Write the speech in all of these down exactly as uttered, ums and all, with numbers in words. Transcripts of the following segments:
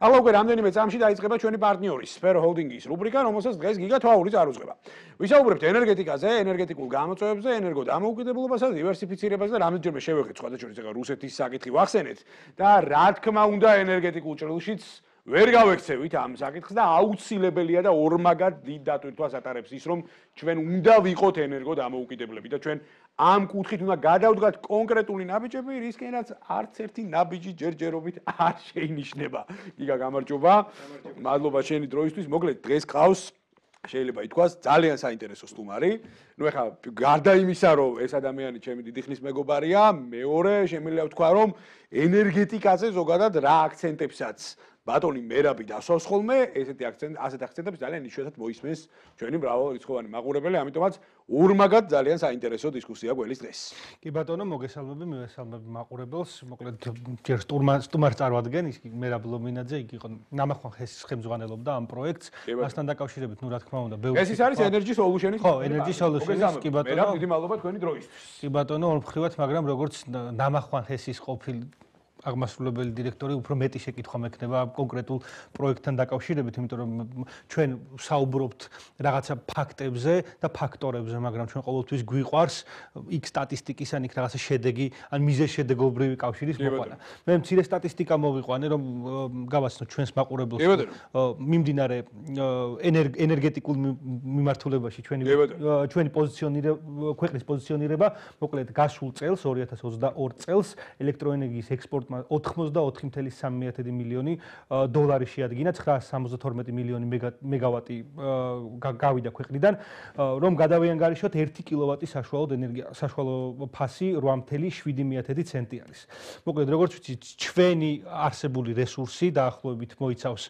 ახლა უკვე რამდენიმე წამში დაიწყება ჩვენი პარტნიორის Sphero Holding-ის რუბრიკა, რომელსაც დღეს გიგა თვაური წარუძღება. ვისაუბრებთ ენერგეტიკაზე, ენერგეტიკულ გამოწვევებზე, ენერგოდამოუკიდებლობასა და დივერსიფიცირებაზე და რამდენჯერმე შევეხეთ სხვადასხვა წეგა რუსეთის საკითხი ვახსენეთ და რა თქმა უნდა ენერგეტიკულ ჭრილშიც ვერ გავექცევით ამ საკითხს და აუცილებელია და ორმაგად დიდ დატვირთვას ატარებს ის, რომ ჩვენ უნდა ვიყოთ ენერგოდამოუკიდებლები და ჩვენ ამ კუთხით უნდა გადავდგათ კონკრეტული ნაბიჯები, რისკენაც არც ერთი ნაბიჯი ჯერჯერობით არ შეინიშნება. გიგა გამარჯობა. მადლობა შენი დროისთვის. მოკლედ დღეს ყავს შეიძლება ითქვას ძალიან საინტერესო სტუმარი. ნუ ეხლა გარდა იმისა, რომ ეს ადამიანი ჩემი დიდი ხნის მეგობარია, მეორე შემიძლია ვთქვა, რომ ენერგეტიკაზე ზოგადად რა აქცენტებსაც ბატონი მერაბი დასვავს ხოლმე, ესეთი აქცენტ, ასეთ აქცენტებს ძალიან იშვიათად მოისმენს ჩვენი მრავალრიცხოვანი მაყურებელი, ამიტომაც ორმაგად ძალიან საინტერესო დისკუსია გველის დღეს. კი ბატონო, მოგესალმები, მივესალმები მაყურებელს. მოკლედ ჯერ სტუმარს წარვადგენ, ის მერაბ ლომინაძე, იგი იყო ნამახვან ხესის ხელმძღვანელობდა ამ პროექტს. მასთან დაკავშირებით, ნუ რა თქმა უნდა, ბევრი ეს ის არის Energy Solution-ის. ხო, Energy Solution-ის, კი ბატონო. მერაბ, დიდი მადლობა თქვენი დროისთვის. კი ბატონო, ორმხრივად, მაგრამ როგორც ნამახვან ხესის ყოფილი აღმასრულებელი დირექტორი უფრო მეტი შეკითხვა მექნება კონკრეტულ პროექტთან დაკავშირებით, იმიტომ რომ ჩვენ საუბრობთ რაღაცა ფაქტებზე და ფაქტორებზე, მაგრამ ჩვენ ყოველთვის გვიყვარს იქ სტატისტიკის ან იქ რაღაცა შედეგი, ან მიზეზშედეგობრივი კავშირის მოყვანა. მე მცირე სტატისტიკა მოვიყვანე, რომ გავაცნო ჩვენს მაყურებელს მიმდინარე ენერგეტიკულ მიმართულებაში ჩვენი ჩვენი პოზიციონირება, ქვეყნის პოზიციონირება, მოკლედ გასულ წელს ორი ათას ოცდაორი წელს ელექტროენერგიის ექსპორტ ოცდაოთხი წუთი სამი მილიონი დოლარი შეადგინა, ცხრაას სამოცდათორმეტი მილიონი მეგავატი გავიდა ქვეყნიდან, რომ გადავიანგარიშოთ ერთი კილოვატი საშუალო ენერგია, საშუალო ფასი რვა წუთი შვიდი ცენტი არის. მოკლედ, როგორც ვიცით, ჩვენი არსებული რესურსი დაახლოებით მოიცავს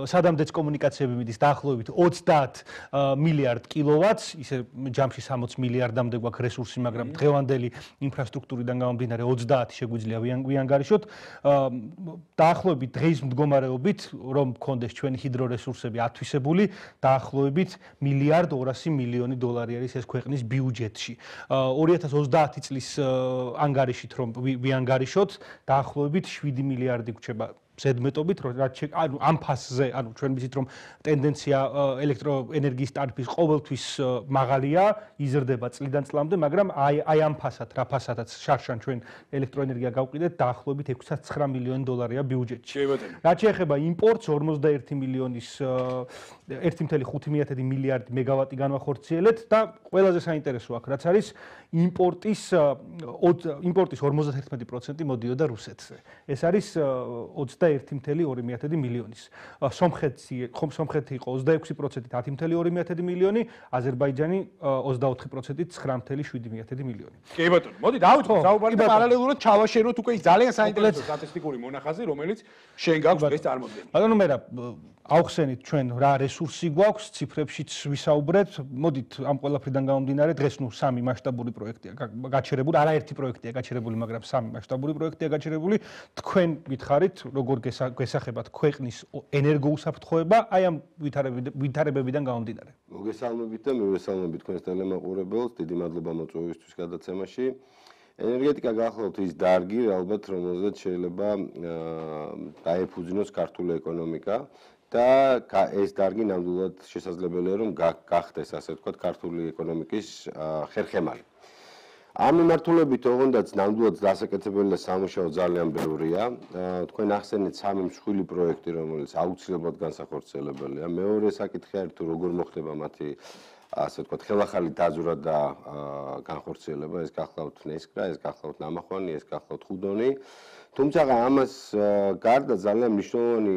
სადამდეც კომუნიკაციები მიდის დაახლოებით ოცდაათ მილიარდ კილოვატს, ისე ჯამში სამოცი მილიარდამდე გვაქვს რესურსი, მაგრამ დღევანდელი ინფრასტრუქტურიდან გამომდინარე ოცდაათი შეგვიძლია ვიანგარიშოთ. დაახლოებით დღის მდგომარეობით, რომ გქონდეს ჩვენი ჰიდრორესურსები ათვისებული, დაახლოებით მილიარდ ორასი მილიონი დოლარი არის ეს ქვეყნის ბიუჯეტში. ორი ათას ოცდაათი წლის ანგარიშით რომ ვიანგარიშოთ, დაახლოებით შვიდი მილიარდი გვჩება ზედმეტობით, რაც ანუ ამ ფასზე, ანუ ჩვენ ვიცით რომ ტენდენცია ელექტროენერგიის ტარიფის ყოველთვის მაღალია, იზრდება წლიდან წლამდე, მაგრამ აი აი ამ ფასად, რა ფასადაც შარშან ჩვენ ელექტროენერგია გავყიდეთ, დაახლოებით ექვსი ცხრა მილიონი დოლარია ბიუჯეტში. რაც შეეხება იმპორტს, ორმოცდაერთი მილიონის ერთი წუთი ხუთი მილიარდი მეგავატი განვახორციელეთ და ყველაზე საინტერესო აქ რაც არის იმპორტის იმპორტის ორმოცდაერთმეტი პროცენტი მოდიოდა რუსეთზე. ეს არის ოცდაერთი წუთი ორი მილიონის. სომხეთი სომხეთი იყო ოცდაექვსი პროცენტით ათი წუთი ორი მილიონი, აზერბაიჯანი ოცდაოთხი პროცენტით ცხრა წუთი შვიდი მილიონი. კი ბატონო, მოდი დავიწყოთ საუბარი და პარალელურად ჩავაშენოთ უკვე ის ძალიან საინტერესო სტატისტიკური მონახაზი, რომელიც შენ გაქვს დღეს წარმოდგენილი. ბატონო მერა ავხსენით ჩვენ რა რესურსი გვაქვს, ციფრებშიც ვისაუბრეთ. მოდით ამ ყველაფრიდან გამომდინარე, დღეს ნუ სამი მასშტაბური პროექტია გაჩერებული, არაერთი პროექტია გაჩერებული, მაგრამ სამი მასშტაბური პროექტია გაჩერებული. თქვენ გითხარით, როგორ გესახებათ ქვეყნის ენერგოუსაფრთხოება, აი ამ ვითარებებიდან გამომდინარე. მოგესალმებით და მივესალმებით თქვენს ტელემაყურებელს, დიდი მადლობა მოწვევისთვის გადაცემაში. ენერგეტიკა გახლავთ ის დარგი, ალბათ რომელზეც შეიძლება დაეფუძნოს ქართული ეკონომიკა. და ეს დარგი ნამდვილად შესაძლებელია რომ გახდეს ასე ვთქვათ ქართული ეკონომიკის ხერხემალი. ამ მიმართულებით ოღონდაც ნამდვილად დასაკეთებელი და სამუშაო ძალიან ბევრია. თქვენ ახსენეთ სამი მსხვილი პროექტი, რომელიც აუცილებლად განსახორციელებელია. მეორე საკითხი არის თუ როგორ მოხდება მათი ასე ვთქვათ ხელახალი დაზვრა და განხორციელება. ეს გახლავთ ნესკრა, ეს გახლავთ ნამახვანი, ეს გახლავთ ხუდონი. თუმცა ამას გარდა ძალიან მნიშვნელოვანი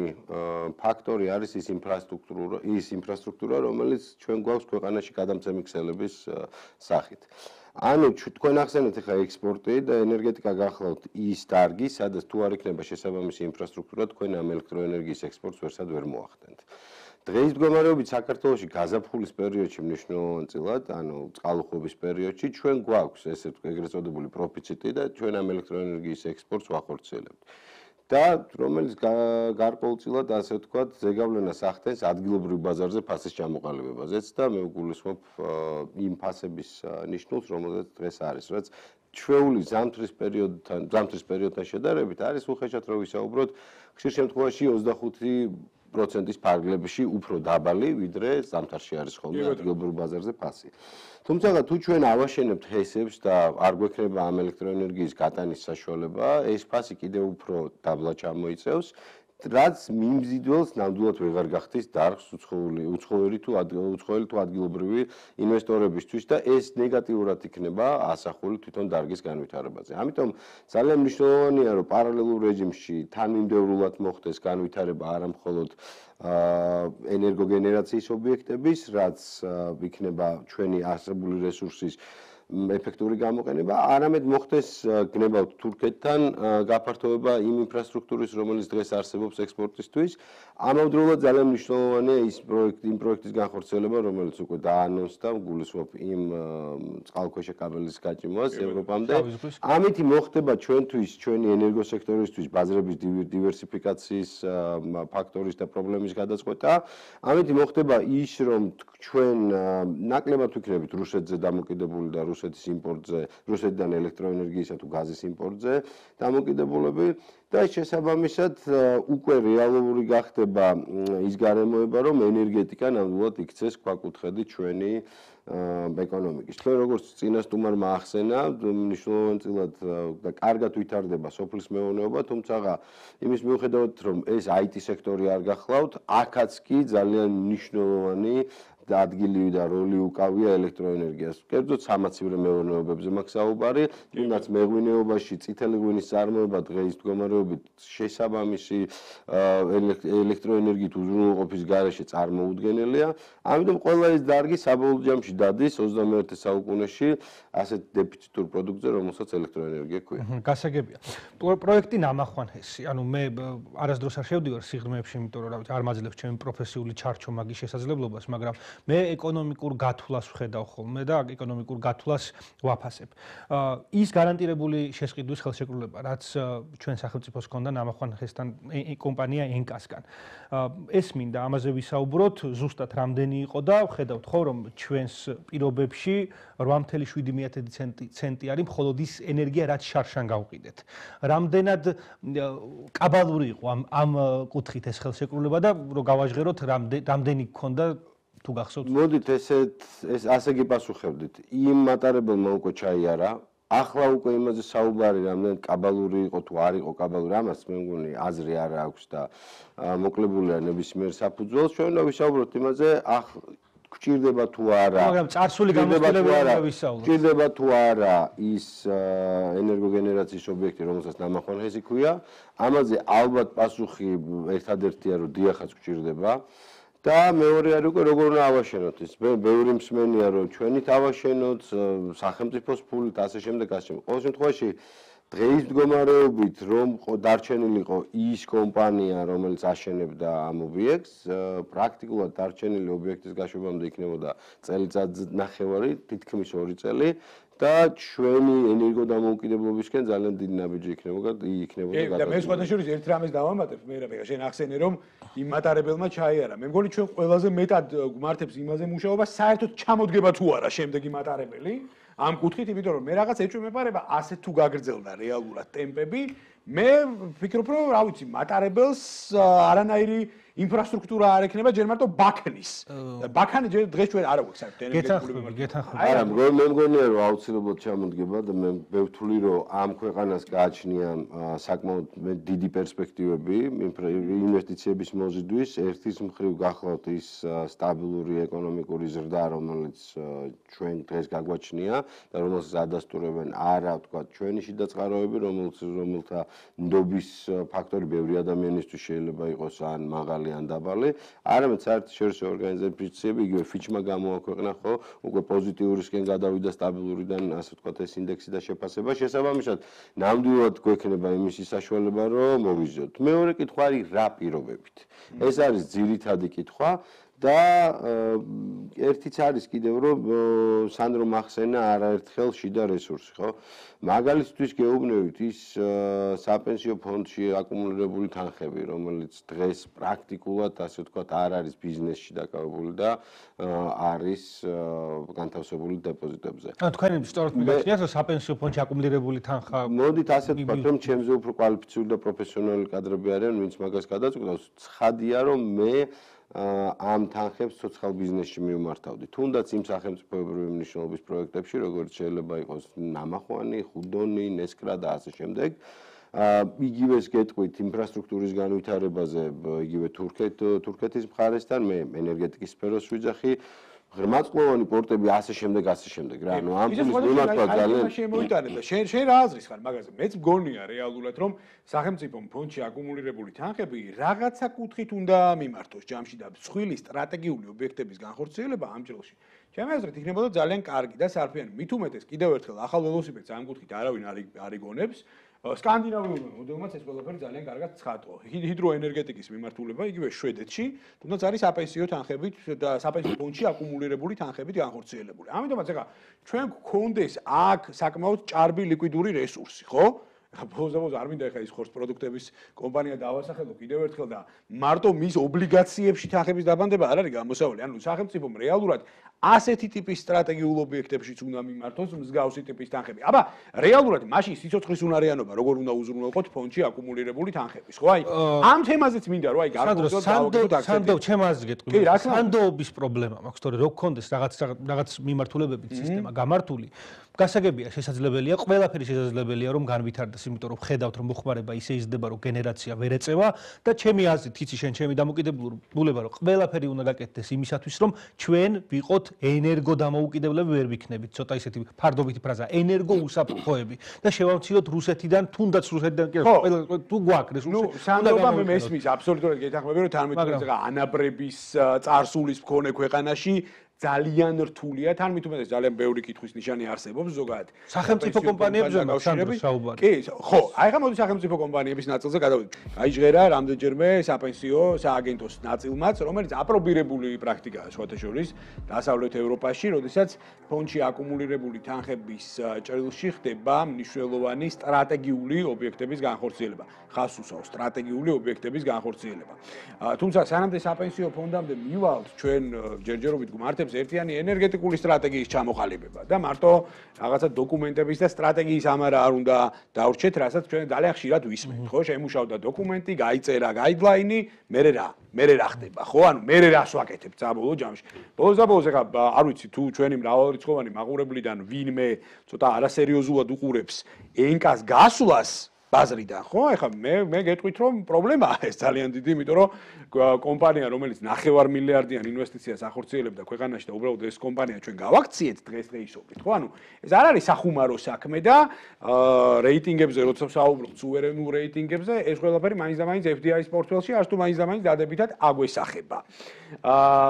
ფაქტორი არის ის ინფრასტრუქტურა, ის ინფრასტრუქტურა, რომელიც ჩვენ გვაქვს ქვეყანაში გადამცემი ქსელების სახით. ანუ თქვენ ახსენეთ ახლა ექსპორტი და ენერგეტიკა გახლავთ ის დარგი, სადაც თუ არ იქნება შესაბამისი ინფრასტრუქტურა, თქვენ ამ ელექტროენერგიის ექსპორტს ვერსად ვერ მოახდენთ. დღეს მდგომარეობით საქართველოში გაზაფხულის პერიოდში მნიშვნელოვანწილად, ანუ წყალუხვების პერიოდში ჩვენ გვაქვს ესე ეგრეთ წოდებული პროფიციტი და ჩვენ ამ ელექტროენერგიის ექსპორტს ვახორციელებთ. და რომელიც გარკვეულწილად ასე ვთქვათ, ზეგავლენას ახდენს ადგილობრივ ბაზარზე ფასის ჩამოყალიბებაზეც და მე ვგულისხმობ იმ ფასების ნიშნულს, რომელზეც დღეს არის, რაც ჩვეული ზამთრის პერიოდთან, ზამთრის პერიოდთან შედარებით არის უხეშად რომ ვისაუბროთ, ხშირ შემთხვევაში ოცდახუთი პროცენტის ფარგლებში უფრო დაბალი, ვიდრე ზამთარში არის ხოლმე ადგილობრივ ბაზარზე ფასი. თუმცა თუ ჩვენ ავაშენებთ ჰესებს და არ გვექნება ამ ელექტროენერგიის გატანის საშუალება, ეს ფასი კიდევ უფრო დაბლა ჩამოიწევს. რაც მიმზიდველს ნამდვილად ვეღარ გახდის დარგს უცხოური უცხოური თუ უცხოელი თუ ადგილობრივი ინვესტორებისთვის და ეს ნეგატიურად იქნება ასახული თვითონ დარგის განვითარებაზე. ამიტომ ძალიან მნიშვნელოვანია რომ პარალელურ რეჟიმში თანმიმდევრულად მოხდეს განვითარება არა მხოლოდ ენერგოგენერაციის ობიექტების, რაც იქნება ჩვენი არსებული რესურსის ეფექტური გამოყენება, არამედ მოხდეს გნებავთ თურქეთთან გაფართოება იმ ინფრასტრუქტურის, რომელიც დღეს არსებობს ექსპორტისთვის. ამავდროულად ძალიან მნიშვნელოვანია ის პროექტი, იმ პროექტის განხორციელება, რომელიც უკვე დაანონსდა, გულისხმობ იმ წყალქვეშა კაბელის გაჭიმვას ევროპამდე. ამით მოხდება ჩვენთვის, ჩვენი ენერგოსექტორისთვის ბაზრების დივერსიფიკაციის ფაქტორის და პრობლემის გადაწყვეტა. ამით მოხდება ის, რომ ჩვენ ნაკლებად ვიქნებით რუსეთზე დამოკიდებული და რუსეთის იმპორტზე, რუსეთიდან ელექტროენერგიისა თუ გაზის იმპორტზე დამოკიდებულები და შესაბამისად უკვე რეალური გახდება ის გარემოება, რომ ენერგეტიკა ნამდვილად იქცეს ქვაკუთხედი ჩვენი ეკონომიკის. ჩვენ როგორც წინასწარმეტყველმა ახსენა, მნიშვნელოვანწილად და კარგად ვითარდება სოფლის მეურნეობა, თუმცა იმის მიუხედავად, რომ ეს აი ტი სექტორი არ გახლავთ, აქაც კი ძალიან მნიშვნელოვანი და ადგილი და როლი უკავია ელექტროენერგიას. კერძოდ სამაცივრო მეურნეობებზე მაქვს საუბარი, თუნდაც მეღვინეობაში წითელი ღვინის წარმოება დღეის მდგომარეობით შესაბამისი ელექტროენერგიით უზრუნველყოფის გარეშე წარმოუდგენელია. ამიტომ ყველა ეს დარგი საბოლოო ჯამში დადის ოცდამეერთე საუკუნეში ასეთ დეფიციტურ პროდუქტზე, რომელსაც ელექტროენერგია ქვია. გასაგებია. პროექტი ნამახვანესი, ანუ მე არასდროს არ შევდივარ სიღრმეებში, იმიტომ რომ არ მაძლევს ჩემი პროფესიული ჩარჩო მაგის შესაძლებლობას, მაგრამ მე ეკონომიკურ გათვლას ვხედავ ხოლმე და ეკონომიკურ გათვლას ვაფასებ. ის გარანტირებული შესყიდვის ხელშეკრულება, რაც ჩვენ სახელმწიფოს ჰქონდა ნამახვანესთან კომპანია ენკასგან. ეს მინდა ამაზე ვისაუბროთ, ზუსტად რამდენი იყო და ვხედავთ ხო რომ ჩვენს პირობებში რვა ათეული ცენტი არის მხოლოდ ის ენერგია, რაც შარშან გავყიდეთ. რამდენად კაბალური იყო ამ ამ კუთხით ეს ხელშეკრულება და რომ გავაჟღეროთ რამდენი გქონდა თუ გახსოვთ? მოდით ესეთ ეს ასე გიპასუხებდით. იმ მატარებელმა უკვე ჩაიარა. ახლა უკვე იმაზე საუბარი რამდენად კაბალური იყო თუ არ იყო კაბალური, ამას მე მგონი აზრი არ აქვს და მოკლებულია ნებისმიერ საფუძველს. ჩვენ უნდა ვისაუბროთ იმაზე, ახლა გჭირდება თუ არა. მაგრამ წარსული გამოცდილებაა ვისაუბროთ. გჭირდება თუ არა ის ენერგოგენერაციის ობიექტი, რომელსაც ნამახვანესი ქვია. ამაზე ალბათ პასუხი ერთადერთია, რომ დიახაც გჭირდება. და მეორე არის უკვე როგორ უნდა ავაშენოთ ის. მე ბევრი მსმენია რომ ჩვენით ავაშენოთ, სახელმწიფოს ფულით, ასე შემდეგ, ასე შემდეგ. ყოველ შემთხვევაში დღეის მდგომარეობით რომ დარჩენილიყო ის კომპანია, რომელიც აშენებდა ამ ობიექტს, პრაქტიკულად დარჩენილი ობიექტის გაშვებამდე იქნებოდა წელიწად ნახევარი, თითქმის ორი წელი. და ჩვენი ენერგოდამოუკიდებლობისკენ ძალიან დიდი ნაბიჯი იქნებოდა იქნებოდა გადაგება. და მე სხვადასხვა ერთ რამეს დავამატებ, მე რა ვიღა, შენ ახსენე რომ იმ მატარებელმა ჩაიარა. მე მგონი ჩვენ ყველაზე მეტად გვმართებს იმაზე მუშაობა, საერთოდ ჩამოდგება თუ არა შემდეგი მატარებელი ამ კუთხით, იმიტომ რომ მე რაღაც ეჭვმეპარება ასე თუ გაგრძელდა რეალურად ტემპები, მე ვფიქრობ რომ რა ვიცი, მატარებელს არანაირი ინფრასტრუქტურა არ ექნება, ჯერ მარტო ბაქნის. ბაქანი დღეს ჩვენ არ აქვს საერთოდ ენერგეტიკული გეთანხმები. არა, მე მგონია რომ აუცილებლად ჩამოდგება და მე მე ვთვლი რომ ამ ქვეყანას გააჩნია საკმაოდ დიდი პერსპექტივები ინვესტიციების მოზიდვის. ერთის მხრივ გახლავთ ის სტაბილური ეკონომიკური ზრდა, რომელიც ჩვენ დღეს გაგვაჩნია და რომელსაც ადასტურებენ არა თქვა ჩვენი შიდა წყაროები, რომელიც რომელთა ნდობის ფაქტორი ბევრი ადამიანისთვის შეიძლება იყოს ან მაღალი ან დაბალი, არამედ საერთაშორისო ორგანიზაციები, იგივე ფიჩმა გამოაქვეყნა ხო, უკვე პოზიტიურისკენ გადავიდა სტაბილურიდან, ასე ვთქვათ, ეს ინდექსი და შეფასება. შესაბამისად, ნამდვილად გვექნება იმის საშუალება, რომ მოვიზიოთ. მეორე კითხვა არის რა პირობებით. ეს არის ძირითადი კითხვა და ერთიც არის კიდევ რომ სანდრო მახსენა არაერთხელ შიდა რესურსი, ხო? მაგალითთვის გეუბნებით ის საპენსიო ფონდში აკუმულირებული თანხები, რომელიც დღეს პრაქტიკულად, ასე ვთქვათ, არ არის ბიზნესში დაკავებული და არის განთავსებული დეპოზიტებზე. ანუ თქვენი სწორად მიგაჩნიათ, რომ საპენსიო ფონდში აკუმულირებული თანხა მოდით ასე ვთქვათ, რომ ჩემზე უფრო კვალიფიციური და პროფესიონალი კადრები არიან, ვინც მაგას გადაწყვეტავს. ცხადია, რომ მე ამ თანხებს ცოცხალ ბიზნესში მივმართავდი. თუნდაც იმ სახელმწიფოებრივი მნიშვნელობის პროექტებში, როგორც შეიძლება იყოს ნამახვანი, ხუდონი, ნესკრა და ასე შემდეგ. იგივეს გეტყვით ინფრასტრუქტურის განვითარებაზე, იგივე თურქეთ თურქეთის მხარესთან, მე ენერგეტიკის სფეროს ვიძახი. ღრმაწლოვანი პორტები ასე შემდეგ, ასე შემდეგ რა. ანუ ამ ფულის მიმართვა ძალიან შემოიტანე და შენ შენ რა აზრის ხარ მაგაზე? მეც მგონია რეალურად რომ სახელმწიფო ფონდში აკუმულირებული თანხები რაღაცა კუთხით უნდა მიმართოს ჯამში და მსხვილი სტრატეგიული ობიექტების განხორციელება ამ ჭრილში. ჩემი აზრით იქნებოდა ძალიან კარგი და სარფიანი. მით უმეტეს კიდევ ერთხელ ახალ ველოსიპედს ამ კუთხით არავინ არ არიგონებს. სკანდინავიურმა მოდელმაც ეს ყველაფერი ძალიან კარგად ცხადყო. ჰიდროენერგეტიკის მიმართულება იგივე შვედეთში, თუნდაც არის საპენსიო თანხებით და საპენსიო ფონდში აკუმულირებული თანხებით განხორციელებული. ამიტომაც ეხლა ჩვენ გქონდეს აქ საკმაოდ ჭარბი ლიკვიდური რესურსი, ხო? ბოლოს არ მინდა ეხლა ის ხორცს პროდუქტების კომპანია დავასახელო კიდევ ერთხელ და მარტო მის ობლიგაციებში თანხების დაბანდება არ არის გამოსავალი. ანუ სახელმწიფომ რეალურად ასეთი ტიპის სტრატეგიულ ობიექტებშიც უნდა მიმართოს მსგავსი ტიპის თანხები. აბა, რეალურად მაშინ სიცოცხლის უნარიანობა როგორ უნდა უზრუნველყოთ ფონდში აკუმულირებული თანხების, ხო? აი, ამ თემაზეც მინდა რომ აი გარკვეულწილად დავაგდოთ აქცენტი. სანდო, ჩემ აზრს გეტყვი. სანდოობის პრობლემა მაქვს, თორე რო გქონდეს რაღაც რაღაც მიმართულებებით სისტემა გამართული. გასაგებია, შესაძლებელია, ყველაფერი შესაძლებელია რომ განვითარდეს, იმიტომ რომ ხედავთ რომ მოხმარება ისე იზრდება, რომ გენერაცია ვერ ეწევა და ჩემი აზრით, იცი შენ ჩემი დამოკიდებულება, რომ ყველაფერი უნდა გაკეთდეს იმისათვის, რომ ჩვენ ვიყოთ ენერგო დამოუკიდებლები ვერ ვიქნებით, ცოტა ისეთი ფარდობითი ფრაზა, ენერგო უსაფრთხოები და შევამციროთ რუსეთიდან, თუნდაც რუსეთიდან კი ყველა თუ გვაქვს რესურსი. ნუ სანდობა მე მესმის, აბსოლუტურად გეთანხმები, რომ თორმეტ ანაბრების წარსულის მქონე ქვეყანაში ძალიან რთულია, თან მით უმეტეს ძალიან ბევრი კითხვის ნიშანი არსებობს ზოგადად. სახელმწიფო კომპანიებზე მაქვს საუბარი. კი, ხო, აი ხა მოდი სახელმწიფო კომპანიების ნაწილზე გადავიდეთ. აიჟღერა რამდენჯერმე საპენსიო სააგენტოს ნაწილმაც, რომელიც აპრობირებული პრაქტიკაა სხვათა შორის დასავლეთ ევროპაში, როდესაც ფონდში აკუმულირებული თანხების ჭრილში ხდება მნიშვნელოვანი სტრატეგიული ობიექტების განხორციელება. ხას უსვავს სტრატეგიული ობიექტების განხორციელება. თუმცა სანამდე საპენსიო ფონდამდე მივალთ ჩვენ ჯერჯერობით გვმართებს ერთიანი ენერგეტიკული სტრატეგიის ჩამოყალიბება და მარტო რაღაცა დოკუმენტების და სტრატეგიის ამარა არ უნდა დავრჩეთ, რასაც ჩვენ ძალიან ხშირად ვისმენთ, ხო? შემუშავდა დოკუმენტი, გაიწერა გაიდლაინი, მერე რა? მერე რა ხდება, ხო? ანუ მერე რას ვაკეთებ საბოლოო ჯამში. ბოლოს და ბოლოს ეხა არ ვიცი თუ ჩვენი მრავალრიცხოვანი მაყურებლიდან ვინმე ცოტა არასერიოზულად უყურებს ენკას გასვლას ბაზრიდან, ხო? ეხლა მე მე გეტყვით რომ პრობლემაა ეს ძალიან დიდი, იმიტომ რომ კომპანია, რომელიც ნახევარ მილიარდიან ინვესტიციას ახორციელებდა ქვეყანაში და უბრალოდ ეს კომპანია ჩვენ გავაქციეთ დღესდღეობით, ხო? ანუ ეს არ არის სახუმარო საქმე და რეიტინგებზე როცა ვსაუბრობთ, სუვერენულ რეიტინგებზე, ეს ყველაფერი მაინც და მაინც ეფ დი აის პორტფელში არც თუ მაინც და მაინც დადებითად აგვესახება.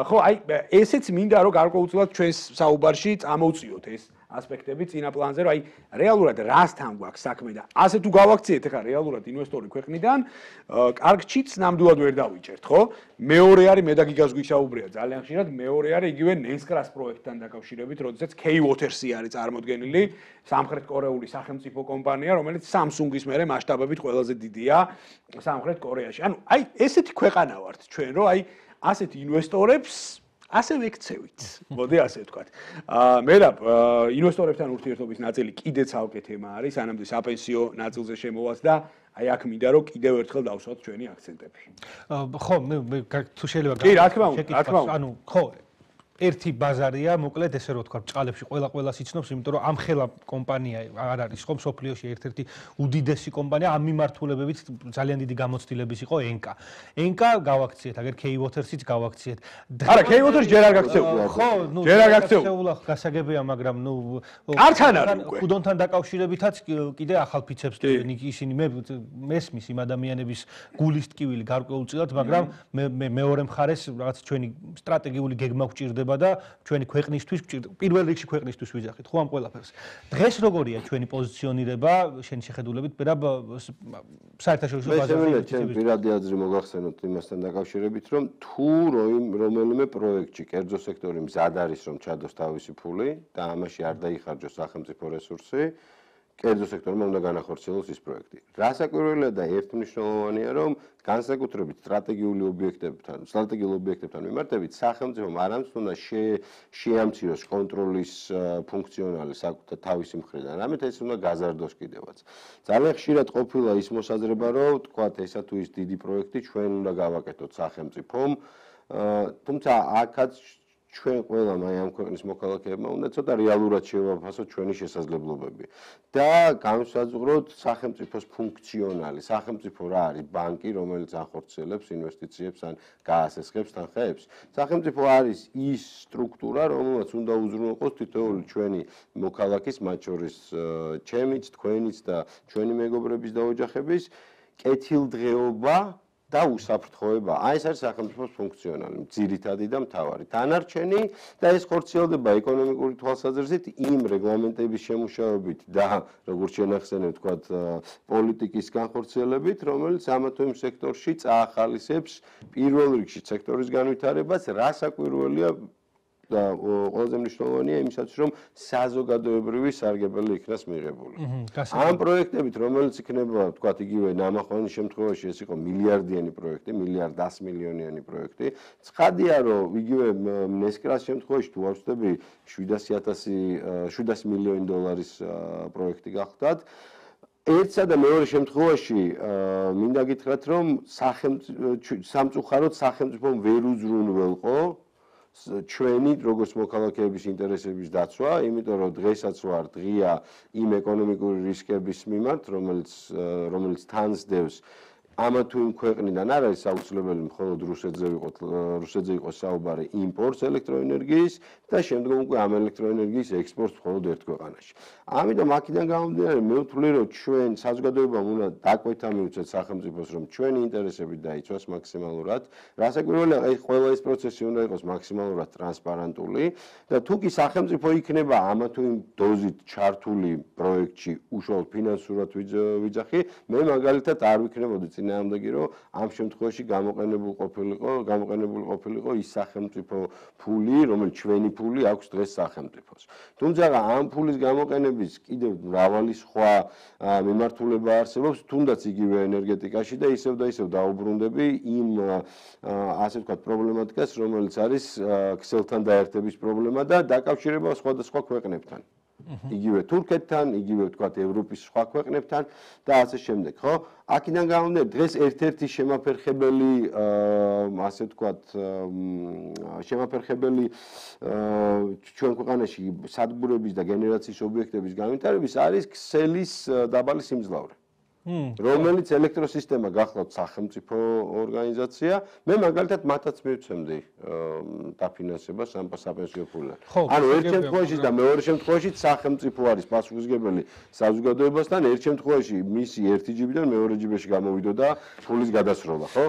ხო, აი ესეც მინდა რომ გარკვეულწილად ჩვენს საუბარში წამოვწიოთ ეს ასპექტები წინა პლანზე, რომ აი რეალურად რასთან გვაქვს საქმე და ასე თუ გავაქციეთ ახლა რეალურად ინვესტორი ქვეყნიდან, კარგჩიც ნამდვილად ვერ დავიჭერთ, ხო? მეორე არის მე და გიგას გვისაუბრია ძალიან ხშირად, მეორე არის იგივე ნესკრას პროექტთან დაკავშირებით, როდესაც K-Waters-ი არის წარმოდგენილი, სამხრეთ კორეული სახელმწიფო კომპანია, რომელიც Samsung-ის მერე მასშტაბებით ყველაზე დიდია სამხრეთ კორეაში. ანუ აი ესეთი ქვეყანა ვართ ჩვენ, რომ აი ასეთი ინვესტორებს ასე ვექცევით. მოდი ასე ვთქვათ. აა მე რა ინვესტორებთან ურთიერთობის ნაწილი კიდეც ალკე თემა არის, სანამდე საპენსიო ნაწილზე შემოვას და აი აქ მინდა რომ კიდევ ერთხელ დავსვათ ჩვენი აქცენტები. ხო, მე თუ შეიძლება კი, რა თქმა უნდა, რა თქმა უნდა. ანუ ხო ერთი ბაზარია, მოკლედ ესე რომ ვთქვა, ბჭყალებში ყველა ყველას იცნობს, იმიტომ რომ ამ ხელა კომპანია არ არის ხო მსოფლიოში ერთ-ერთი უდიდესი კომპანია, ამ მიმართულებებით ძალიან დიდი გამოცდილების იყო ენკა. ენკა გავაქციეთ, აგერ K-Waters-იც გავაქციეთ. არა, K-Waters ჯერ არ გაქცეულა. ხო, ნუ ჯერ არ გაქცეულა. გასაგებია, მაგრამ ნუ ართან არის უკვე. ხუდონთან დაკავშირებითაც კიდე ახალფიცებს ისინი მე მესმის იმ ადამიანების გულის ტკივილი გარკვეულწილად, მაგრამ მე მეორე მხარეს რაღაც ჩვენი სტრატეგიული გეგმა გვჭირდება გვჭირდება და ჩვენი ქვეყნისთვის პირველ რიგში ქვეყნისთვის ვიძახით ხო ამ ყველაფერს. დღეს როგორია ჩვენი პოზიციონირება შენი შეხედულებით პირაბ საერთაშორისო ბაზარზე? ჩემ პირადი აზრი მოგახსენოთ იმასთან დაკავშირებით, რომ თუ რომელიმე პროექტში კერძო სექტორი მზად არის რომ ჩადოს თავისი ფული და ამაში არ დაიხარჯოს სახელმწიფო რესურსი, კერძო სექტორმა უნდა განახორციელოს ის პროექტი. რასაკვირველია და ერთმნიშვნელოვანია, რომ განსაკუთრებით სტრატეგიული ობიექტებთან, სტრატეგიულ ობიექტებთან მიმართებით სახელმწიფომ არამც უნდა შეამციროს კონტროლის ფუნქციონალი საკუთარ თავისი მხრიდან, რამით ეს უნდა გაზარდოს კიდევაც. ძალიან ხშირად ყოფილა ის მოსაზრება, რომ თქვათ ესა თუ ის დიდი პროექტი ჩვენ უნდა გავაკეთოთ სახელმწიფომ, თუმცა აქაც ჩვენ ყველამ აი ამ ქვეყნის მოქალაქეებმა უნდა ცოტა რეალურად შევაფასოთ ჩვენი შესაძლებლობები და განვსაზღვროთ სახელმწიფოს ფუნქციონალი. სახელმწიფო რა არის? ბანკი, რომელიც ახორციელებს ინვესტიციებს ან გაასესხებს თანხებს. სახელმწიფო არის ის სტრუქტურა, რომელსაც უნდა უზრუნველყოს თითოეული ჩვენი მოქალაქის, მათ შორის ჩემიც, თქვენიც და ჩვენი მეგობრების და ოჯახების კეთილდღეობა და უსაფრთხოება. აი ეს არის სახელმწიფოს ფუნქციონალი, ძირითადი და მთავარი. დანარჩენი და ეს ხორციელდება ეკონომიკური თვალსაზრისით იმ რეგლამენტების შემუშავებით და როგორც შენახსენებ, თქვათ, პოლიტიკის განხორციელებით, რომელიც ამა თუ იმ სექტორში წაახალისებს პირველ რიგში სექტორის განვითარებას, რასაკვირველია და ყველაზე მნიშვნელოვანია იმისაც, რომ საზოგადოებრივი სარგებელი იქნას მიღებული. ამ პროექტებით, რომელიც იქნება, თქვათ, იგივე ნამახვანის შემთხვევაში ეს იყო მილიარდიანი პროექტი, მილიარდ ას მილიონიანი პროექტი. ცხადია, რომ იგივე ნესკრას შემთხვევაში თუ ავწდები შვიდასი ათასი შვიდასი მილიონი დოლარის პროექტი გახდათ, ერთსა და მეორე შემთხვევაში მინდა გითხრათ, რომ სამწუხაროდ სახელმწიფომ ვერ უზრუნველყო ჩვენი როგორც მოქალაქეების ინტერესების დაცვა, იმიტომ რომ დღესაც ვარ დღია იმ ეკონომიკური რისკების მიმართ, რომელიც რომელიც თანსდევს ამა თუ იმ ქვეყნიდან არ არის აუცილებელი მხოლოდ რუსეთზე ვიყოთ, რუსეთზე იყოს საუბარი იმპორტს ელექტროენერგიის და შემდგომ უკვე ამ ელექტროენერგიის ექსპორტს მხოლოდ ერთ ქვეყანაში. ამიტომ აქედან გამომდინარე მე ვთვლი, რომ ჩვენ საზოგადოებამ უნდა დაკვეთა მივცეთ სახელმწიფოს, რომ ჩვენი ინტერესები დაიცვას მაქსიმალურად. რასაკვირველია, ეს ყველა ეს პროცესი უნდა იყოს მაქსიმალურად ტრანსპარენტული და თუ კი სახელმწიფო იქნება ამა თუ იმ დოზით ჩართული პროექტში უშუალოდ ფინანსურად ვიძახი, მე მაგალითად არ ვიქნებოდი წინააღმდეგი, რომ ამ შემთხვევაში გამოყენებულ ყოფილიყო, გამოყენებული ყოფილიყო ის სახელმწიფო ფული, რომელიც ჩვენი ფული აქვს დღეს სახელმწიფოს. თუმცა ამ ფულის გამოყენების კიდევ მრავალი სხვა მიმართულება არსებობს, თუნდაც იგივე ენერგეტიკაში და ისევ და ისევ დაუბრუნდები იმ ასე ვთქვათ პრობლემატიკას, რომელიც არის ქსელთან დაერთების პრობლემა და დაკავშირება სხვადასხვა ქვეყნებთან. იგივე თურქეთთან, იგივე ვთქვათ ევროპის სხვა ქვეყნებთან და ასე შემდეგ, ხო? აქედან გამომდინარე, დღეს ერთ-ერთი შემაფერხებელი, ასე ვთქვათ, შემაფერხებელი ჩვენ ქვეყანაში სადგურების და გენერაციის ობიექტების განვითარების არის ქსელის დაბალი სიმძლავრე. რომელიც ელექტროსისტემა გახლავთ სახელმწიფო ორგანიზაცია, მე მაგალითად მათაც მივცემდი დაფინანსებას ამ საპენსიო ფულიდან. ანუ ერთ შემთხვევაში და მეორე შემთხვევაში სახელმწიფო არის პასუხისმგებელი საზოგადოებასთან, ერთ შემთხვევაში მისი ერთი ჯიბიდან მეორე ჯიბეში გამოვიდოდა ფულის გადასროლა, ხო?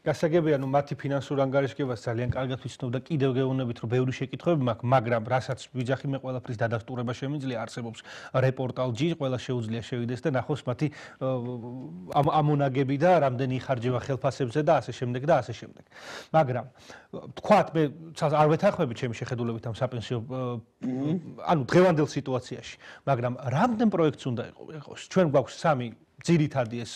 გასაგებია, ნუ მათი ფინანსურ ანგარიშგებას ძალიან კარგად ვიცნობ და კიდევ გეუბნებით, რომ ბევრი შეკითხვები მაქვს, მაგრამ რასაც ვიძახი მე ყველაფრის დადასტურება შემიძლია, არსებობს რეპორტალ ჯი, ყველა შეუძლია შევიდეს და ნახოს მათი ამონაგები და რამდენი იხარჯება ხელფასებზე და ასე შემდეგ და ასე შემდეგ. მაგრამ თქვათ მე არ ვეთანხმები ჩემი შეხედულებით ამ საპენსიო ანუ დღევანდელ სიტუაციაში, მაგრამ რამდენ პროექტს უნდა იყოს? ჩვენ გვაქვს სამი ძირითადი ეს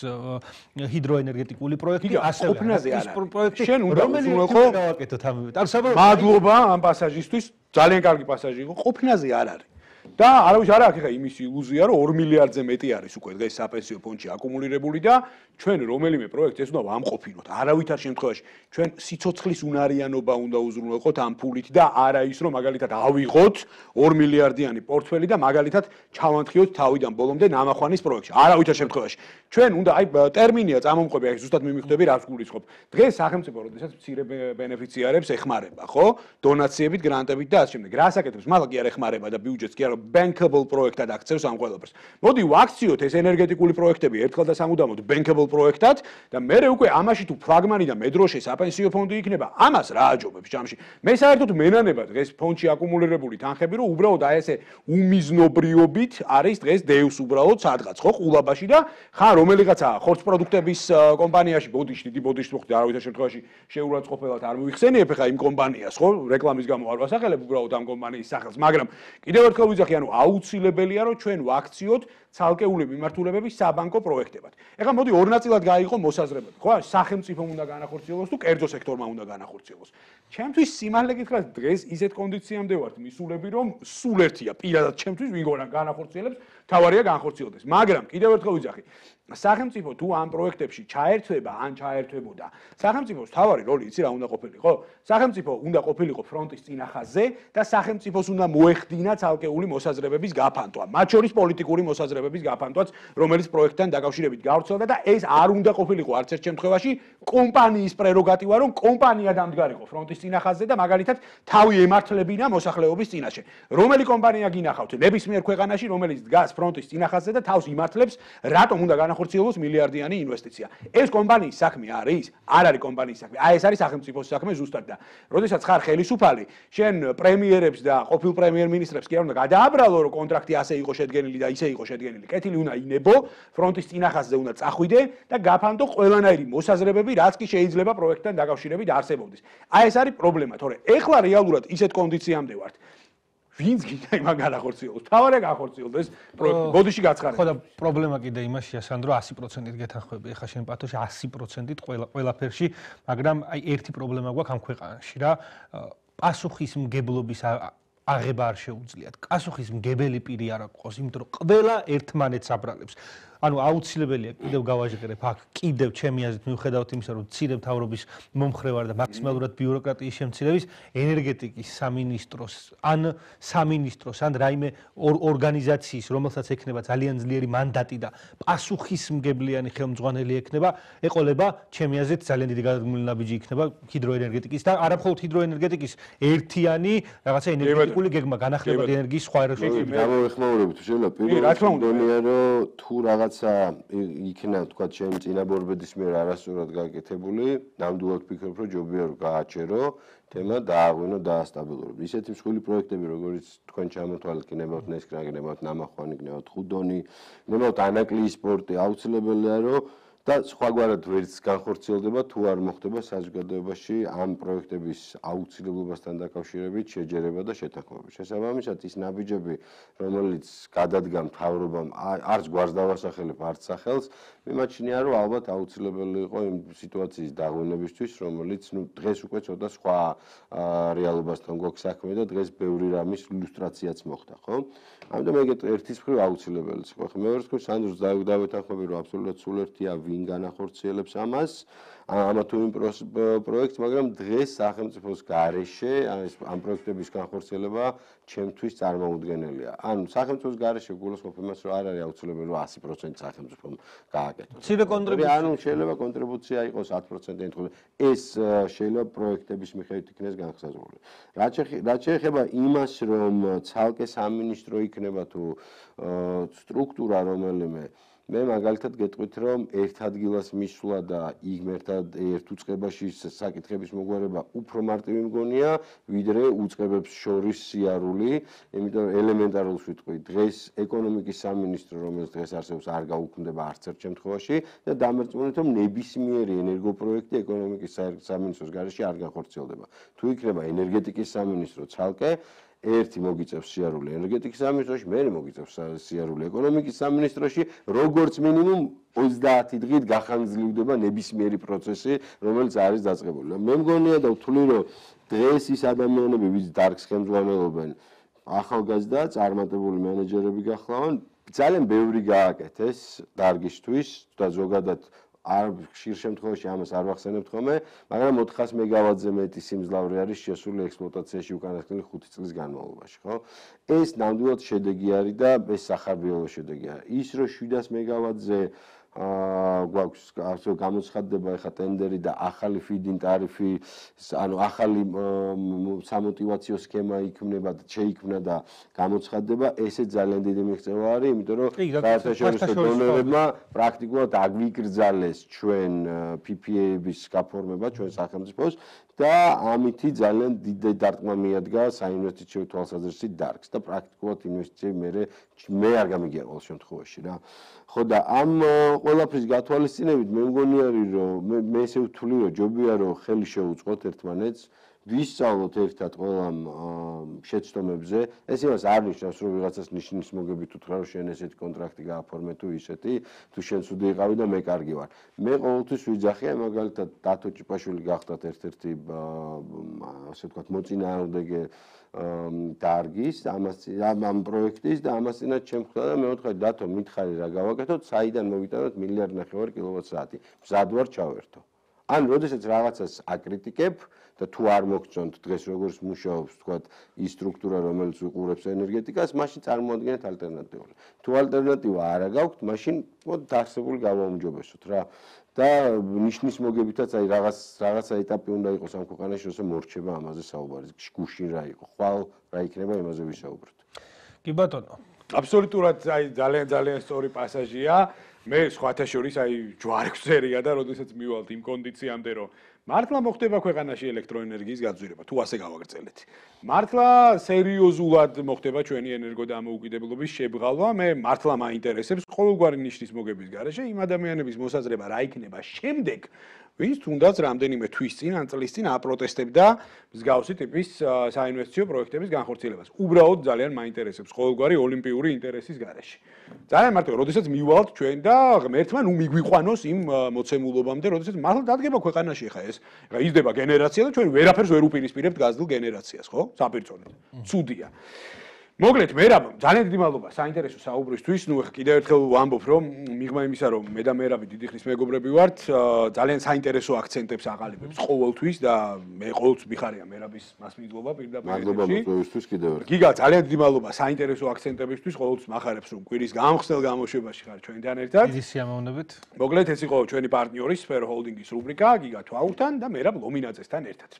ჰიდროენერგეტიკული პროექტი, ასევე ის პროექტი, შენ უნდა უზრუნველყო გავაკეთოთ ამივე. ანუ საბოლოოდ მადლობა ამ პასაჟისთვის, ძალიან კარგი პასაჟი იყო, ყოფნაზე არ არის. და არავის არ აქვს ხა იმის ილუზია, რომ ორ მილიარდზე მეტი არის უკვე დღეს საპენსიო ფონდში აკუმულირებული და ჩვენ რომელიმე პროექტს ეს უნდა ვამყოფინოთ. არავითარ შემთხვევაში ჩვენ სიცოცხლის უნარიანობა უნდა უზრუნველყოთ ამ ფულით და არა ის, რომ მაგალითად ავიღოთ ორ მილიარდიანი პორტფელი და მაგალითად ჩავანთხიოთ თავიდან ბოლომდე ნამახვანის პროექტში. არავითარ შემთხვევაში. ჩვენ უნდა აი ტერმინია წამომყვები, აი ზუსტად მიმიხვდები რას გულისხმობ. დღეს სახელმწიფო როდესაც მცირე ბენეფიციარებს ეხმარება, ხო? დონაციებით, გრანტებით და ასე შემდეგ. რას აკეთებს? მალ კი არ ეხმარება და ბიუჯეტს კი არა bankable პროექტად აქცევს ამ ყველაფერს. მოდი ვაქციოთ ეს ენერგეტიკული პროექტები ერთხელ და სამუდამოდ bankable პროექტად და მე უკვე ამაში თუ ფლაგმანი და მედროშე საპენსიო ფონდი იქნება, ამას რა აჯობებს ჯამში? მე საერთოდ მენანება დღეს ფონდში აკუმულირებული თანხები, რომ უბრალოდ აი ესე უმიზნობრიობით არის დღეს დევს უბრალოდ სადღაც ხო ყულაბაში და ხან რომელიღაცა ხორცპროდუქტების კომპანიაში ბოდიში, დიდი ბოდიში მოხდა არავითარ შემთხვევაში შეურაცხყოფელად არ მოიხსენიებ ხა იმ კომპანიას ხო რეკლამის გამო არ ვასახელებ უბრალოდ ამ კომპანიის სახელს, მაგრამ კიდევ ერთხელ ვიძახი, ანუ აუცილებელია რომ ჩვენ ვაქციოთ ცალკეული მიმართულებების საბანკო პროექტებად. ეხლა მოდი ორ ნაწილად გაიყო მოსაზრებები, ხო? სახელმწიფომ უნდა განახორციელოს თუ კერძო სექტორმა უნდა განახორციელოს. ჩემთვის სიმართლე გითხრათ, დღეს ისეთ კონდიციამდე ვართ მისულები, რომ სულ ერთია პირადად ჩემთვის ვინგონა განახორციელებს, თავარია განხორციელდეს. მაგრამ კიდევ ერთხელ ვიძახი, სახელმწიფო თუ ამ პროექტებში ჩაერთვება, ან ჩაერთვებოდა, სახელმწიფოს თავარი როლი იცი რა უნდა ყოფილიყო? სახელმწიფო უნდა ყოფილიყო ფრონტის წინახაზზე და სახელმწიფოს უნდა მოეხდინა ცალკეული მოსაზრებების გაფანტვა, მათ შორის პოლიტიკური მოსაზრებების გაფანტვაც, რომელიც პროექტთან დაკავშირებით გავრცელდა და ეს არ უნდა ყოფილიყო არც ერთ შემთხვევაში კომპანიის პრეროგატივა, რომ კომპანია დამდგარიყო ფრონტის წინახაზზე და მაგალითად თავი ემართლებინა მოსახლეობის წინაშე. რომელი კომპანია გინახავთ ნებისმიერ ქვეყანაში, რომელიც დგას ფრონტის წინახაზზე და თავს იმართლებს, რატომ უნდა განახორციელოს მილიარდიანი ინვესტიცია. ეს კომპანიის საქმე არის? არ არის კომპანიის საქმე. აი ეს არის სახელმწიფოს საქმე ზუსტად და როდესაც ხარ ხელისუფალი, შენ პრემიერებს და ყოფილ პრემიერ-მინისტრებს კი არ უნდა გადააბრალო, რომ კონტრაქტი ასე იყო შედგენილი და ისე იყო შედგენილი. კეთილი უნდა ინებო, ფრონტის წინახაზზე უნდა წახვიდე და გაფანტო ყველანაირი მოსაზრებები, რაც კი შეიძლება პროექტთან დაკავშირებით არსებობდეს. აი ეს არის პრობლემა, თორე ეხლა რეალურად ისეთ კონდიციამდე ვართ. ვინც გინდა იმან განახორციელოს? თავარია განახორციელდეს პროექტი. ბოდიში გაცხარება. ხო და პრობლემა კიდე იმაშია, სანდრო, ათი პროცენტით გეთანხმები. ეხლა შენ პათოში ათი პროცენტით ყველა ყველაფერში, მაგრამ აი ერთი პრობლემა გვაქვს ამ ქვეყანაში რა. პასუხისმგებლობის აღება არ შეუძლიათ. პასუხისმგებელი პირი არ აქვს, იმიტომ რომ ყველა ერთმანეთს აბრალებს. ანუ აუცილებელია კიდევ გავაჟღერებ აქ კიდევ ჩემი აზრით მიუხედავად იმისა რომ მცირე მთავრობის მომხრე ვარ და მაქსიმალურად ბიუროკრატიის შემცირების ენერგეტიკის სამინისტროს ან სამინისტროს ან რაიმე ორგანიზაციის რომელსაც ექნება ძალიან ძლიერი მანდატი და პასუხისმგებლიანი ხელმძღვანელი ექნება ეყოლება ჩემი აზრით ძალიან დიდი გადადგმული ნაბიჯი იქნება ჰიდროენერგეტიკის და არა მხოლოდ ჰიდროენერგეტიკის ერთიანი რაღაცა ენერგეტიკული გეგმა განახლებად ენერგიის სხვა ეროვნულ გამოვეხმაურებით შეიძლება პირველ დონეა რომ თუ რაღაც იქნა თქვა ჩემი წინაბორბედის მიერ არასწორად გაკეთებული, ნამდვილად ვფიქრობ, რომ ჯობია რომ გააჩერო, თემა დააღვინო, დაასტაბილურებო. ისეთი მსხვილი პროექტები, როგორც თქვენ ჩამოთვალეთ, გნებავთ ნესკრა, გნებავთ ნამახვანი, გნებავთ ხუდონი, გნებავთ ანაკლიის სპორტი, აუცილებელია რომ და სხვაგვარად ვერც განხორციელდება თუ არ მოხდება საზოგადოებაში ამ პროექტების აუცილებლობასთან დაკავშირებით შეჯერება და შეთანხმება. შესაბამისად ის ნაბიჯები, რომელიც გადადგა მთავრობამ, არც გვარს დავასახელებ, არც სახელს, მიმაჩნია რომ ალბათ აუცილებელი იყო იმ სიტუაციის დაღვინებისთვის, რომელიც ნუ დღეს უკვე ცოტა სხვა რეალობასთან გვაქვს საქმე და დღეს ბევრი რამის ილუსტრაციაც მოხდა, ხო? ამიტომ ეგეთ ერთის მხრივ აუცილებელი იყო. ხო, მეორე მხრივ სანდროს დავეთანხმები, რომ აბსოლუტურად სულ ერთია ვინ განახორციელებს ამას, ამა თუ იმ პროექტს, მაგრამ დღეს სახელმწიფოს გარეშე ამ პროექტების განხორციელება ჩემთვის წარმოუდგენელია. ანუ სახელმწიფოს გარეშე გულისხმობ იმას, რომ არ არის აუცილებელი რომ ათი პროცენტი სახელმწიფომ გააკეთოს. მცირე კონტრიბუცია. ანუ შეიძლება კონტრიბუცია იყოს ათი პროცენტი, ეს შეიძლება პროექტების მიხედვით იქნეს განხსაზღვრული. რაც შეეხება იმას, რომ ცალკე სამინისტრო იქნება თუ სტრუქტურა რომელიმე მე მაგალითად გეტყვით რომ ერთ ადგილას მისვლა და იქ ერთად ერთ უწყებაში საკითხების მოგვარება უფრო მარტივი მგონია ვიდრე უწყებებს შორის სიარული, იმიტომ რომ ელემენტარულს ვიტყვი დღეს ეკონომიკის სამინისტრო რომელიც დღეს არსებობს არ გაუქმდება არც ერთ შემთხვევაში და დამერწმუნეთ რომ ნებისმიერი ენერგოპროექტი ეკონომიკის სამინისტროს გარეშე არ განხორციელდება. თუ იქნება ენერგეტიკის სამინისტრო ცალკე ერთი მოგიწევს სიარული ენერგეტიკის სამინისტროში, მეორე მოგიწევს სიარული ეკონომიკის სამინისტროში, როგორც მინიმუმ ოცდაათი დღით გახანგრძლივდება ნებისმიერი პროცესი, რომელიც არის დაწყებული. მე მგონია და ვთვლი, რომ დღეს ის ადამიანები, ვინც დარგს ხელმძღვანელობენ, ახალგაზრდა, წარმატებული მენეჯერები გახლავენ, ძალიან ბევრი გააკეთეს დარგისთვის და ზოგადად არ ხშირ შემთხვევაში ამას არ ვახსენებთ ხოლმე, მაგრამ ოთხას მეგავატზე მეტი სიმძლავრე არის შესული ექსპლუატაციაში უკანასკნელი ხუთი წლის განმავლობაში, ხო? ეს ნამდვილად შედეგი არის და ეს სახარბიელო შედეგი არის. ის რომ შვიდას მეგავატზე აა გვაქვს ასე გამოცხადდება ეხა ტენდერი და ახალი feed-in ტარიფი, ანუ ახალი სამოტივაციო სქემა იქმნება და შეიქმნა და გამოცხადდება, ესე ძალიან დიდი მიღწევა არის, იმიტომ რომ საერთაშორისო დონორებმა პრაქტიკულად აგვიკრძალეს ჩვენ P P A-ების გაფორმება ჩვენ სახელმწიფოს და ამითი ძალიან დიდი დარტყმა მიადგა საინვესტიციო თვალსაზრისით დარგს და პრაქტიკულად ინვესტიციები მე მე არ გამიგია ყოველ შემთხვევაში რა. ხო და ამ ყველაფრის გათვალისწინებით მე მგონი არის რომ მე ესე ვთვლი რომ ჯობია რომ ხელი შეუწყოთ ერთმანეთს ვისწავლოთ ერთად ყველა შეცდომებზე. ეს იმას არ ნიშნავს რომ ვიღაცას ნიშნის მოგებით უთხრა რომ შენ ესეთი კონტრაქტი გააფორმე თუ ისეთი თუ შენ ცუდი იყავი და მე კარგი ვარ. მე ყოველთვის ვიძახია მაგალითად დათო ჭიპაშვილი გახდათ ერთ-ერთი ასე ვთქვათ მოწინააღმდეგე დარგის ამას ამ პროექტის და ამასინაც ჩემხდა და მე ვთქვი დათო მითხარი რა გავაკეთოთ საიდან მოვიტანოთ მილიარდ ნახევარი კილოვატ-საათი. მზად ვარ ჩავერთო. ან როდესაც რაღაცას აკრიტიკებ და თუ არ მოგწონთ დღეს როგორც მუშაობს თქვათ ის სტრუქტურა რომელიც უყურებს ენერგეტიკას, მაშინ წარმოადგენთ ალტერნატივას. თუ ალტერნატივა არა გაქვთ, მაშინ მოდ დაარსებული გავაუმჯობესოთ რა. და ნიშნის მოგებითაც აი რაღაც რაღაცა ეტაპი უნდა იყოს ამ ქვეყანაში, როცა მორჩება ამაზე საუბარი. გუშინ რა იყო, ხვალ რა იქნება იმაზე ვისაუბროთ. კი ბატონო. აბსოლუტურად აი ძალიან ძალიან სწორი პასაჟია. მე სხვათა შორის აი ჯვარებს წერია და როდესაც მივალთ იმ კონდიციამდე რომ მართლა მოხდება ქვეყანაში ელექტროენერგიის გაძვირება თუ ასე გავაგრძელეთ. მართლა სერიოზულად მოხდება ჩვენი ენერგოდამოუკიდებლობის შებღალვა. მე მართლა მაინტერესებს ყოველგვარი ნიშნის მოგების გარეშე იმ ადამიანების მოსაზრება რა იქნება შემდეგ, ვინც თუნდაც რამდენიმე თვის წინ ან წლის წინ აპროტესტებდა მსგავსი ტიპის საინვესტიციო პროექტების განხორციელებას. უბრალოდ ძალიან მაინტერესებს ყოველგვარი ოლიმპიური ინტერესის გარეშე. ძალიან მარტო, როდესაც მივალთ ჩვენ და ღმერთმა ნუ მიგვიყვანოს იმ მოცემულობამდე, როდესაც მართლა დადგება ქვეყანაში ხა ეს. ხა იზრდება გენერაცია და ჩვენ ვერაფერს ვერ უპირისპირებთ გაზრდილ გენერაციას, ხო? საპირწონედ. ცუდია. მოგლეთ, მერაბ, ძალიან დიდი მადლობა საინტერესო საუბრისთვის. ნუ ხა კიდევ ერთხელ ვამბობ, რომ მიღმა იმისა, რომ მე და მერაბი დიდი ხნის მეგობრები ვართ, ძალიან საინტერესო აქცენტებს აყალიბებს ყოველთვის და მე ყოველთვის მიხარია მერაბის მასმიძვლობა პირდაპირ. მადლობა მოწვევისთვის კიდევ ერთხელ. გიგა, ძალიან დიდი მადლობა საინტერესო აქცენტებისთვის. ყოველთვის მახარებს, რომ კვირის გამხსნელ გამოშვებაში ხარ ჩვენთან ერთად. დიდი სიამოვნებით. მოგლეთ, ეს იყო ჩვენი პარტნიორი Sphere Holding-ის რუბრიკა გიგა თვალთან და მერაბ ლომინაძესთან ერთად.